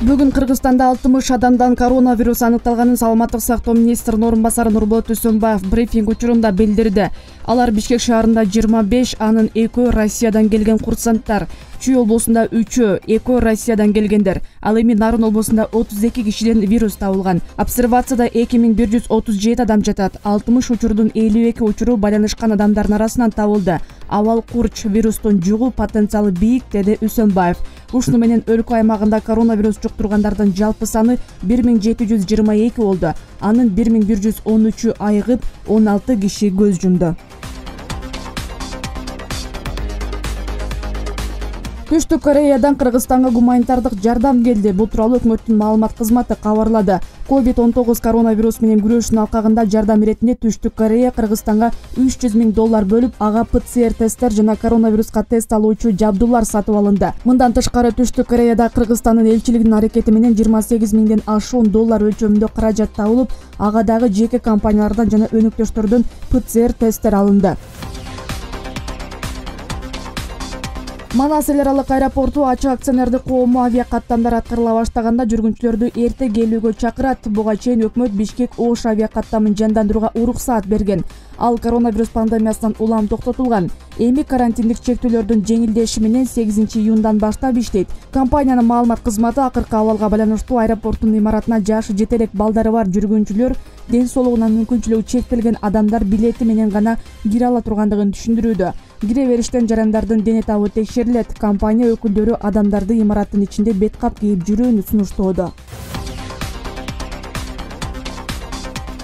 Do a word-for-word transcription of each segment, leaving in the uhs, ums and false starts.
Бүгүн Кыргызстанда алтымыш адамдан коронавирус аныкталганын Саламаттык сактоо министринин орун басары Нурболот Үсөнбаев брифинг учурунда билдирди. Алар Бишкек шаарында жыйырма беш, анын экөө Россиядан келген курсанттар. Чүй облусунда үчөө, экөө Россиядан келгендер. Ал эми Нарын облусунда отуз эки кишиден вирус табылган. Обсервацияда эки миң бир жүз отуз жети адам жатат. алтымыш учурдун элүү эки учуру байланышкан адамдардын арасынан табылды. Абал курч вирустун жугуу потенциалы бийик, деди Үсөнбаев. Ушуну менен өлкө аймагында коронавирус жуктургандардын жалпы саны бир миң жети жүз жыйырма эки болду. Анын бир миң бир жүз он үчү айыгып, он алты киши көз жумду. Түштүк Кореядан Кыргызстанга гуманитардык жардам келди. Бул тууралуу өкмөттүн маалымат кызматы кабарлады. ковид он тогуз коронавирус менен күрөшүүнүн алкагында жардам иретинде Түштүк Корея Кыргызстанга үч жүз миң доллар бөлүп, ага ПЦР тесттер жана коронавируска тест алуучу жабдуулар сатып алынды. Мындан тышкары Түштүк Кореяда Кыргызстандын элчилигинин аракети менен жыйырма сегиз миңден ашуун доллар өлчөмүндө каражат табылып, ага дагы жеке компаниялардан жана өнөктөштөрдөн ПЦР тесттер алынды. Манас эл аралык аэропорту ачык акционердик коому авиакаттамдар аткарыла баштаганда жүргүнчүлөрдү эрте келүүгө чакырат. Буга чейин өкмөт Бишкек Ош авиакаттамын жандандырууга уруксаат берген. Ал коронавирус пандемиясынан улам токтотулган. Эми карантиндик чектөөлөрдүн жеңилдеши менен сегизинчи июндан баштап иштейт. Компаниянын маалымат кызматы акыркы абалга байланыштуу аэропорттун имаратына жашы жете элек балдары бар жүргүнчүлөр, ден соолугуна мүмкүнчүлүгү чектелген адамдар билети менен гана кире ала тургандыгын түшүндүрүүдө. Кире бериштен жарандардын дене табы текшерилет. Компания өкүлдөрү адамдарды имараттын ичинде бет кап кийип жүрүүнү сунуштоодо.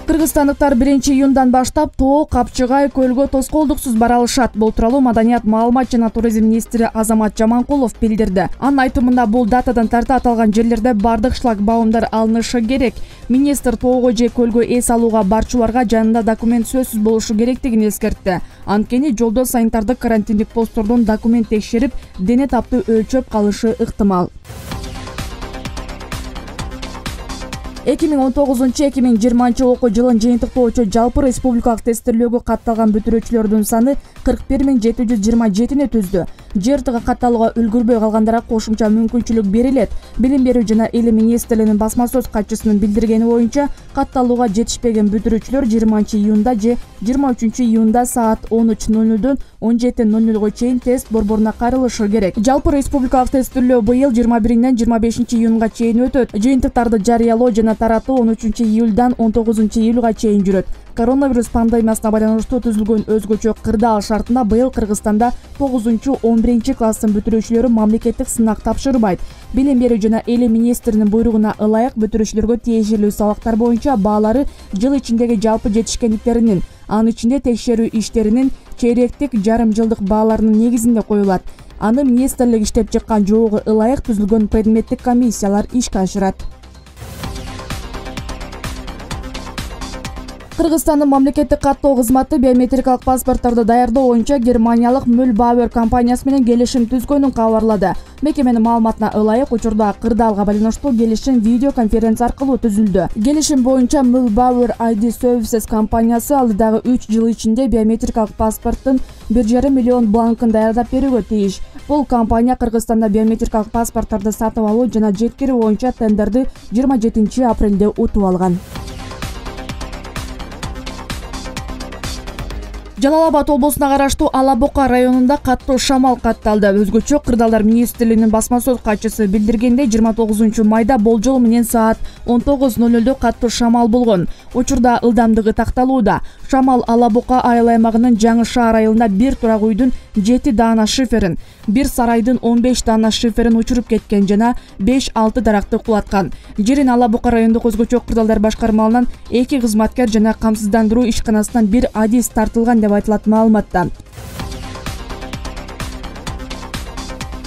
Кыргызстандыктар биринчи июндан баштап Тоо, Капчыгай көлгө тоскоолдуксуз бара алышат. Бул тууралуу Маданият, маалымат жана туризм министри Азамат Жаманкулов билдирди. Анын айтымында бул датадан тарта аталган жерлерде бардык шлагбаумдар алынышы керек. Министр Тоого же көлгө эс алууга барчуларга жанында документ сөзсүз болушу керектигин эскертти. Анткени жолдо санитардык карантиндик посттордон документ текшерип, дене тапты өлчөп калышы ыктымал. эки миң он тогузунчу эки миң жыйырманчы окуу жылын жыйынтыктоочу жалпы республикалык тестирлөөгө катталган бүтүрүүчүлөрдүн саны кырк бир миң жети жүз жыйырма жетини түздү. ЖРТга катталууга үлгүрбөй калгандарга кошумча мүмкүнчүлүк берилет. Билим берүү жана илим министрлигинин басма сөз катчысынын билдиргени боюнча, катталууга жетишпеген бүтүрүүчүлөр жыйырманчы июнда же жыйырма үчүнчү июнда саат он үч ноль нолдон он жети ноль нолго чейин тест борборуна кайрылышы керек. Жалпы республикалык тестирлөө быйыл жыйырма биринен жыйырма бешинчи июнга чейин өтөт. Жыйынтыктарды жарыялоо жана таратуу он үчүнчү июлдан он тогузунчу июлга чейин жүрөт. Коронавирус пандемиясына байланыштуу түзүлгөн өзгөчө кырдаал шартында быйыл Кыргызстанда тогузунчу он биринчи класстын бүтүрүүчүлөрү мамлекеттик сынак тапшырбайт. Билим берүү жана илим министринин буйругуна ылайык бүтүрүүчүлөргө тиешелүү сабактар боюнча баалары жыл ичиндеги жалпы жетишкендиктеринин, анын ичинде текшерүү иштеринин чейректик, жарым жылдык бааларынын негизинде коюлат. Аны министрлик иштеп чыккан жобого ылайык түзүлгөн предметтик комиссиялар ишке ашырат. Кыргызстандын мамлекеттик каттоо кызматы биометрикалык паспортторду даярдоо боюнча германиялык Müllbauer компаниясы менен келишим түзгөнүн кабарлады. Мекеменин маалыматына ылайык, учурда кырдаалга байланыштуу келишим видео конференция аркылуу түзүлдү. Келишим боюнча Müllbauer ай ди Services компаниясы алдыдагы үч жыл ичинде биометрикалык паспорттун бир жарым миллион бланкын даярдап берүүгө тийиш. Бул компания Кыргызстанда биометрикалык паспортторду сатып алуу жана жеткирүү боюнча тендерди жыйырма жетинчи апрелде утуп алган. Жалал Абад облусуна караштуу Ала Бока районунда каттуу шамал катталды. Өзгөчө Кырдаалдар министрлигинин басма сөз катчысы билдиргендей, жыйырма тогузунчу майда болжол менен саат он тогуз ноль нолдо каттуу шамал болгон. Учурда ылдамдыгы такталууда. Шамал Ала Бока айыл аймагынын Жаңы шаар айылында бир турак үйдүн жети даана шиферин, бир сарайдын он беш даана шиферин учуруп кеткен жана беш алты даракты кулаткан. Жерин Ала Бока райондук өзгөчө Кырдаалдар башкармалынан эки кызматкер жана камсыздандыруу ишканасынан бир адис тартылган деп айтылат маалыматта.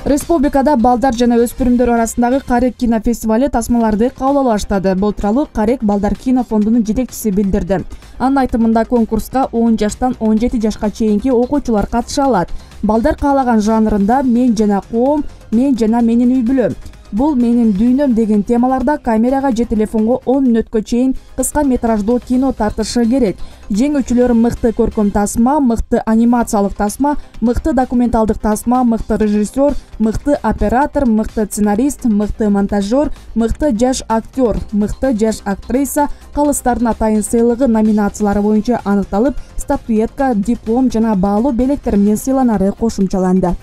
Республикада балдар жана өспүрүмдөр арасындагы Карек кинофестивали тасмаларды кабыл алуу баштады. Бул тууралуу Карек балдар кино фондунун жетекчиси билдирди. Анын айтымында конкурска он жаштан он жети жашка чейинки окуучулар катыша алат. Балдар каалаган жанрында «Мен жана коом», «Мен жана менин үй бүлөм», бул менин дүйнөм деген темаларда камерага же телефонго он мүнөткө чейин кыска метраждуу кино тартышы керек. Жеңүүчүлөр мыкты көркөм тасма, мыкты анимациялык тасма, мыкты документалдык тасма, мыкты режиссер, мыкты оператор, мыкты сценарист, мыкты монтажер, мыкты жаш актер, мыкты жаш актриса, калыстардын атайын сыйлыгы номинациялары боюнча аныкталып, статуэтка, диплом жана баалуу белектер менен сыйланары кошумчаланды.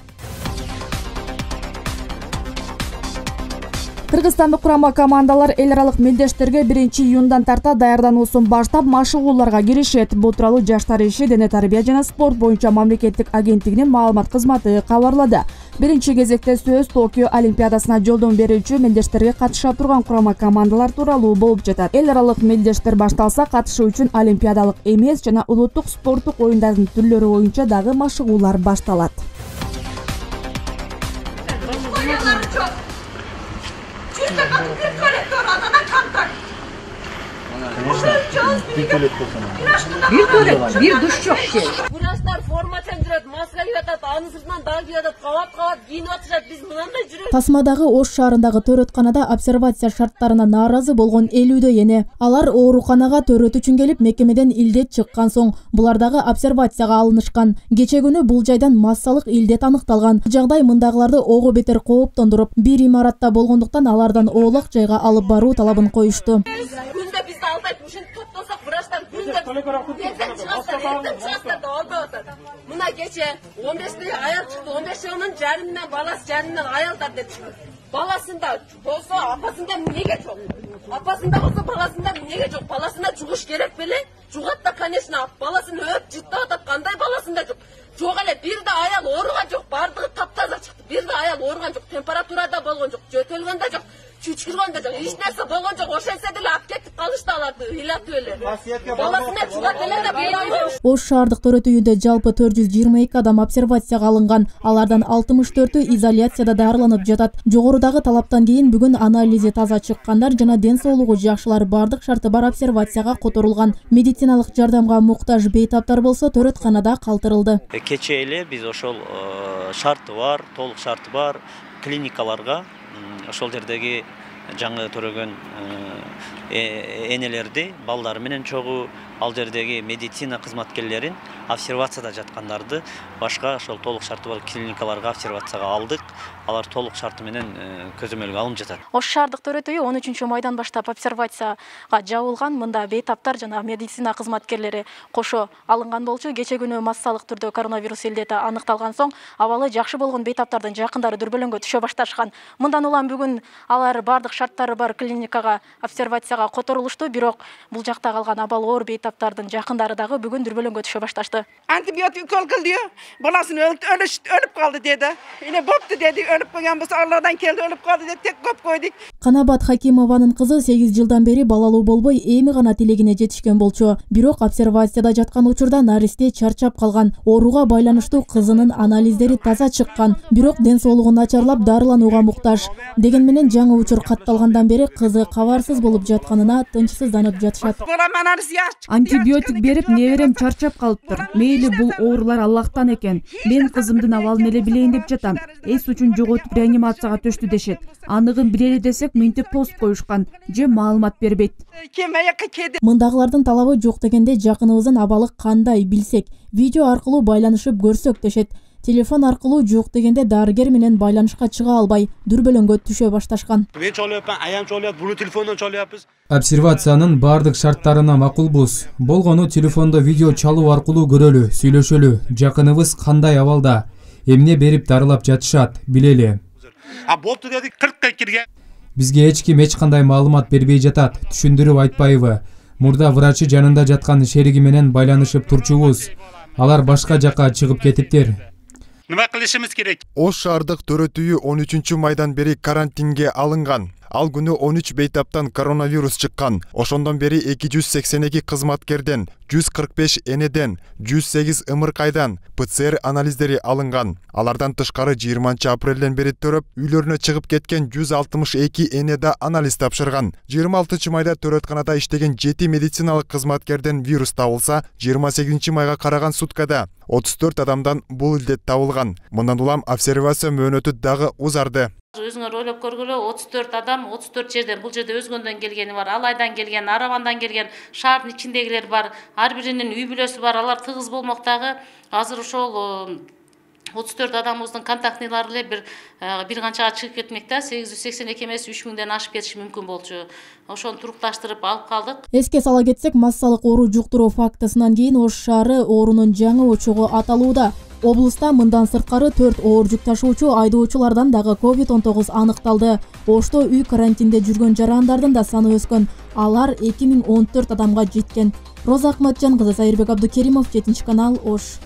Кыргызстандык курама командалар эл аралык мелдештерге биринчи июндан тарта даярдануусун баштап машыгууларга киришет. Бул тууралуу Жаштар иши, дене тарбия жана спорт боюнча мамлекеттик агенттигинин маалымат кызматы кабарлады. Биринчи кезекте сөз Токио Олимпиадасына жолдон берүүчү мелдештерге катыша турган курама командалар тууралуу болуп жатат. Эл аралык мелдештер башталса, катышуу үчүн олимпиадалык эмес жана улуттук спорттук оюндардын түрлөрү боюнча дагы машыгуулар башталат. Bir tuvalet, bir duş yok ki. Buraslar forma çemdirет, маска кийип атат, анын сыртынан дагы кийип атат, кабат-кабат кийинип атышат. Биз мынандай жүрөбүз. Тасмадагы Ош шаарындагы төрөтканада обсервация шарттарына нааразы болгон элүүдө эне. Алар ооруканага төрөт үчүн келип, мекемеден илдет чыккан соң булар дагы обсервацияга алынышкан. Кече күнү бул жайдан массалык илдет аныкталган. Жагдай мындагыларды ого бетер кооптондуруп, бир имаратта болгондуктан алардан оолак жайга алып баруу талабын коюшту. Күндө бизди албайт, ушинтип топтосок, врачтар күндө ертең чыгасыздар, ертең чыгасыздар деп албай атат. Мына кече он беште аял чыкты, он беш жылынын жарымынан баласы жарымынан аялдар деп чыкты. Баласында болсо апасында эмнеге жок? Апасында болсо баласында эмнеге жок? Баласына жугуш керек беле? Жугат да, конечно, баласын өп жыттап атат, кандай баласында жок? Жок эле, бир да аял ооруган жок, бардыгы таптаза чыкты. Бир да аял ооруган жок, температурада болгон жок, жөтөлгөн да жок. Чүчкүргөн да жок, эч нерсе болгон жок. Ошентсе деле алып кетип калышты аларды, ыйлатып эле. Баласына жугат эле да болбойбу. Ош шаардык төрөт үйүндө жалпы төрт жүз жыйырма эки адам обсервацияга алынган. Алардан алтымыш төртү изоляцияда дарыланып жатат. Жогорудагы талаптан кийин бүгүн анализи таза чыккандар жана ден соолугу жакшылар бардык шарты бар обсервацияга которулган. Медициналык жардамга муктаж бейтаптар болсо төрөтканада калтырылды. Кече эле биз ошол шарты бар, толук шарты бар клиникаларга ошол жердеги жаңы төрөгөн энелерди, балдар менен чогуу ал жердеги медицина кызматкерлерин обсервацияда жаткандарды башка ошол толук шарты бар клиникаларга обсервацияга алдык. Алар толук шарты менен көзөмөлгө алынып жатат. Ош шаардык төрөт үйү он үчүнчү майдан баштап обсервацияга жабылган. Мында бейтаптар жана медицина кызматкерлери кошо алынган болчу. Кече күнү массалык түрдө коронавирус илдети аныкталган соң абалы жакшы болгон бейтаптардын жакындары дүрбөлөңгө түшө башташкан. Мындан улам бүгүн алар бардык шарттары бар клиникага обсервацияга которулушту. Бирок бул жакта калган абалы оор бейтаптардын жакындары дагы бүгүн дүрбөлөңгө түшө башташты. Антибиотик укол кылды, баласын өлүп калды деди. Эне бопту деди, өлүп калган болсо Алладан келди, өлүп калды деп тек коп койдук. Канабат Хакимованын кызы сегиз жылдан бери балалуу болбой эми гана тилегине жетишкен болчу. Бирок обсервацияда жаткан учурда наристе чарчап калган. Ооруга байланыштуу кызынын анализдери таза чыккан. Бирок ден соолугу начарлап дарыланууга муктаж. Деген менен жаңы учур катталгандан бери кызы кабарсыз болуп жатканына тынчсызданып жатышат. Антибиотик берип неберем чарчап калыптыр. Мейли бул оорулар Аллахтан экен. Мен кызымдын абалын эле билейин деп жатам. Эс үчүн жоготуп реанимацияга төштү дешет. Аныгын билели десек минтип тосуп коюшкан же маалымат бербейт. Мындагылардын талабы жок дегенде жакыныбыздын абалы кандай билсек, видео аркылуу байланышып көрсөк дешет. Телефон аркылуу жок дегенде дарыгер менен байланышка чыга албай дүрбөлөңгө түшө башташкан. Мен чалып, аям чалып, буну телефондон чалыпбыз. Обсервациянын бардык шарттарына макулбуз. Болгону телефондо видео чалуу аркылуу көрөлү, сүйлөшөлү. Жакыныбыз кандай абалда, эмне берип дарылап жатышат, билели. А болду дедик, кыркка кирген. Бизге эч ким эч кандай маалымат бербей жатат, түшүндүрүп айтпайбы. Мурда врачы жанында жаткан шериги менен байланышып турчубуз. Алар башка жакка чыгып кетиптир. Нема кылышыбыз керек? Ош шаардык төрөт үйү он үчүнчү майдан бери карантинге алынган. Ал күнү он үч бейтаптан коронавирус чыккан. Ошондон бери эки жүз сексен эки кызматкерден, жүз кырк беш энеден, жүз сегиз ымыркайдан ПЦР анализдери алынган. Алардан тышкары жыйырманчы апрелден бери төрөп, үйлөрүнө чыгып кеткен жүз алтымыш эки эне да анализ тапшырган. жыйырма алтынчы майда төрөтканада иштеген жети медициналык кызматкерден вирус табылса, жыйырма сегизинчи майга караган суткада отуз төрт адамдан бул илдет табылган. Мындан улам обсервация мөөнөтү дагы узарды. Өзүңөр ойлоп көргүлө, отуз төрт адам отуз төрт жерден, бул жерде Өзгөндөн келгени бар, Алайдан келген, Аравандан келген, шаардын ичиндегилер бар, ар биринин үй бүлөсү бар, алар тыгыз болмоктагы. Азыр ошол отуз төрт адамыбыздын контактныйлары эле бир бир канчага чыгып кетмек да, сегиз жүз сексен эки эмес үч миңден ашып кетиши мүмкүн болчу. Ошону турукташтырып алып калдык. Эске сала кетсек, массалык оору жуктуруу фактысынан кийин Ош шаары оорунун жаңы очогу аталууда. Облуста мындан сырткары төрт оор жүк ташуучу айдоочулардан дагы ковид он тогуз аныкталды. Ошто үй карантинде жүргөн жарандардын да саны өскөн. Алар эки миң он төрт адамга жеткен. Роза Акматжан кызы, Сайырбек Абдукеримов, жетинчи канал, Ош.